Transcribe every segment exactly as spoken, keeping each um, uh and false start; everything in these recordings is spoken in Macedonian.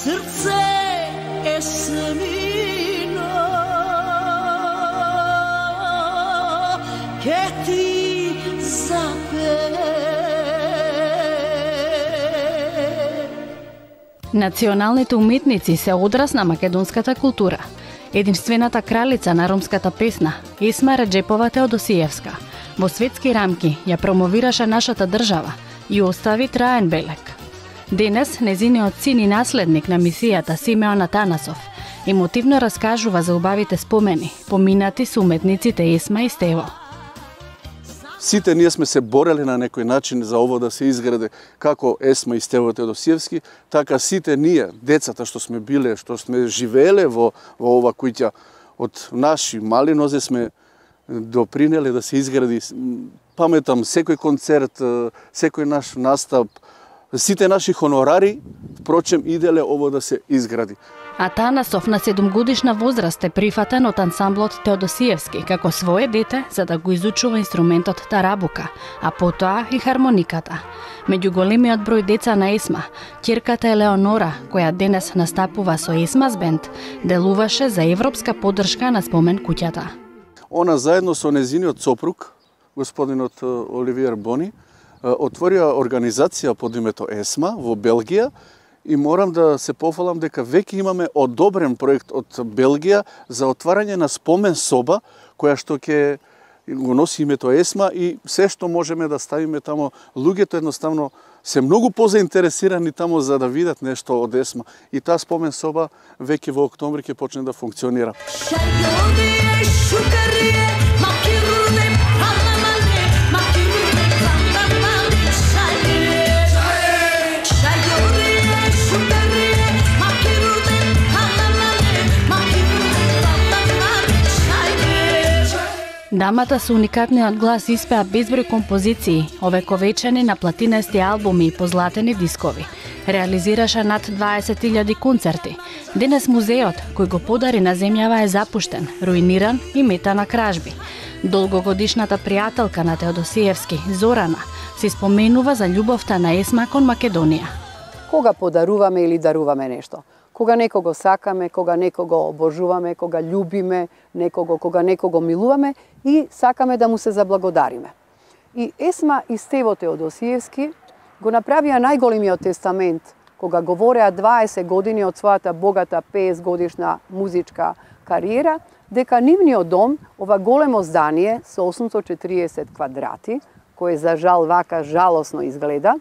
Srce Esmino, che ti sapere. Националните уметници се одраз на македонската култура. Единствената кралица на ромската песна, Есма Реджепова Теодосиевска, во светски рамки ја промовираше нашата држава и остави траен белег. Денес, незиниот син и наследник на мисијата Симеон Атанасов емотивно раскажува за убавите спомени, поминати со уметниците Есма и Стево. Сите ние сме се борели на некој начин за ово да се изграде како Есма и Стево Теодосиевски, така сите ние, децата што сме биле, што сме живееле во, во ова куќа, од наши мали нозе сме допринеле да се изгради. Паметам секој концерт, секој наш настап, сите наши хонорари, впрочем, иделе ово да се изгради. Атанасов на седумгодишна возраст е прифатен од ансамблот Теодосиевски како свое дете за да го изучува инструментот тарабука, а потоа и хармониката. Меѓу големиот број деца на Есма, ќерката Елеонора, која денес настапува со Есмас бенд, делуваше за европска поддршка на спомен куќата. Она заедно со незиниот сопруг, господинот Оливиер Бони, отворија организација под името Есма во Белгија и морам да се пофалам дека веќе имаме одобрен проект од Белгија за отварање на спомен соба која што ќе го носи името Есма и се што можеме да ставиме тамо. Луѓето едноставно се многу позаинтересирани тамо за да видат нешто од Есма и таа спомен соба веќе во октомври ќе почне да функционира. Дамата со уникатниот глас испеа безброј композиции, овековечени на платинести албуми и позлатени дискови. Реализираше над дваесет илјади концерти. Денес музеот, кој го подари на земјава, е запуштен, руиниран и мета на кражби. Долгогодишната пријателка на Теодосиевски, Зорана, се споменува за љубовта на Есма кон Македонија. Кога подаруваме или даруваме нешто, кога некого сакаме, кога некого обожуваме, кога љубиме некого, кога некого милуваме и сакаме да му се заблагодариме. И Есма и Стево Теодосиевски го направија најголемиот тестамент кога говореа дваесет години од својата богата петдесет годишна музичка кариера, дека нивниот дом, ова големо здание со осумстотини и четириесет квадрати, кој за жал вака жалосно изгледа,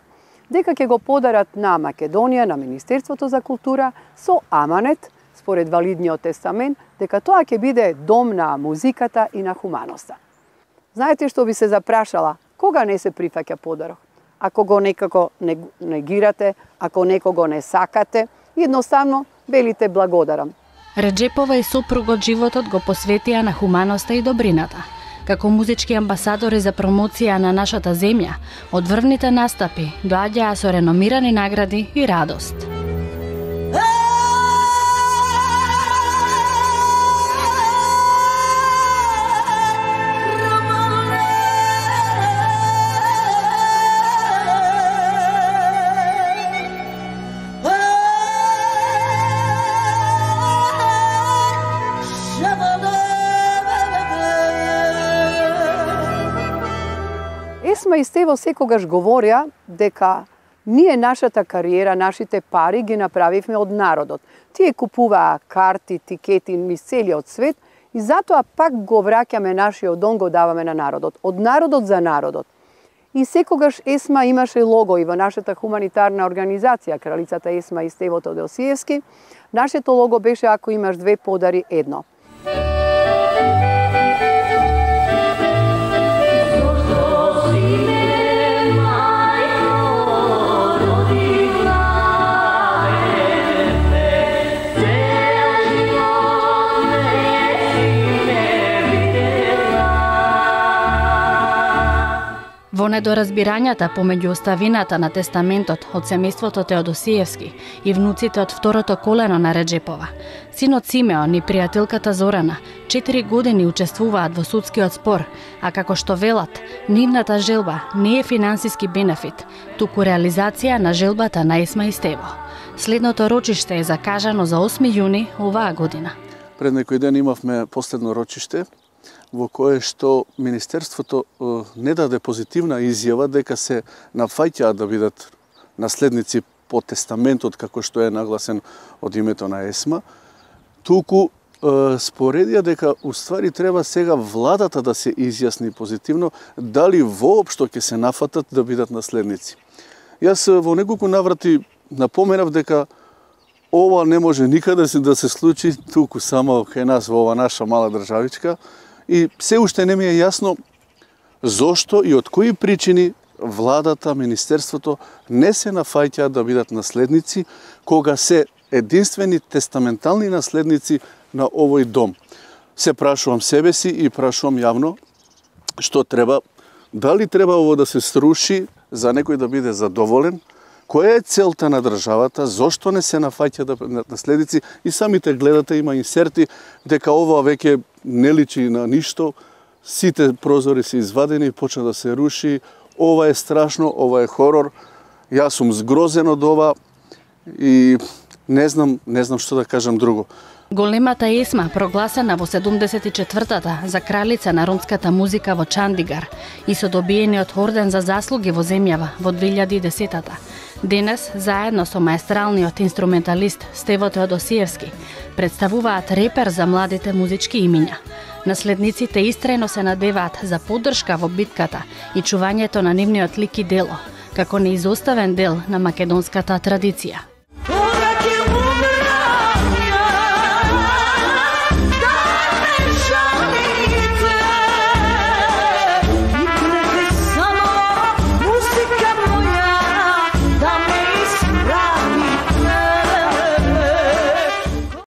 дека ќе го подарат на Македонија, на Министерството за култура, со аманет, според валидниот тестамент, дека тоа ќе биде дом на музиката и на хуманоста. Знаете што би се запрашала? Кога не се прифаќа подарок? Ако го некако негирате, ако некого не сакате, едноставно велите благодарам. Реджепова и сопругот животот го посветија на хуманоста и добрината. Како музички амбасадори за промоција на нашата земја, од врвните настапи доаѓаа со реномирани награди и радост. Есма и Стево секогаш говореа дека ние нашата кариера, нашите пари ги направивме од народот. Тие купуваа карти, тикети низ целиот свет и затоа пак го враќаме нашиот дом, го даваме на народот. Од народот за народот. И секогаш Есма имаше лого и во нашата хуманитарна организација, кралицата Есма и Стево Теодосиевски. Нашето лого беше ако имаш две подари едно. Во недоразбирањата помеѓу оставината на тестаментот од семејството Теодосиевски и внуците од второто колено на Реджепова, синот Симеон и пријателката Зорана четири години учествуваат во судскиот спор, а како што велат, нивната желба не е финансиски бенефит, туку реализација на желбата на Есма и Стево. Следното рочиште е закажано за осми јуни оваа година. Пред некој ден имавме последно рочиште во кое што Министерството не даде позитивна изјава дека се нафаќаат да бидат наследници по тестаментот како што е нагласен од името на ЕСМА, туку споредија дека уствари треба сега владата да се изјасни позитивно дали воопшто ќе се нафатат да бидат наследници. Јас во неколку наврати напоменав дека ова не може никаде да се случи туку само кај нас во ова наша мала државичка и се уште не ми е јасно зошто и од кои причини владата, министерството не се нафаќаат да бидат наследници кога се единствени тестаментални наследници на овој дом. Се прашувам себе си и прашувам јавно што треба, дали треба ово да се сруши за некој да биде задоволен, која е целта на државата, зошто не се нафаќа да наследници и самите гледате има инсерти дека ова веќе не личи на ништо, сите прозори се извадени, почна да се руши, ова е страшно, ова е хорор, јас сум згрозен од ова и не знам, не знам што да кажам друго. Големата ЕСМА, прогласена во седумдесет и четвртата за кралица на ромската музика во Чандигар и со добиениот орден за заслуги во земјава во две илјади и десетата, денес, заедно со маестралниот инструменталист Стево Теодосиевски, представуваат репер за младите музички имиња. Наследниците истрајно се надеваат за поддршка во битката и чувањето на нивниот лик и дело, како неизоставен дел на македонската традиција.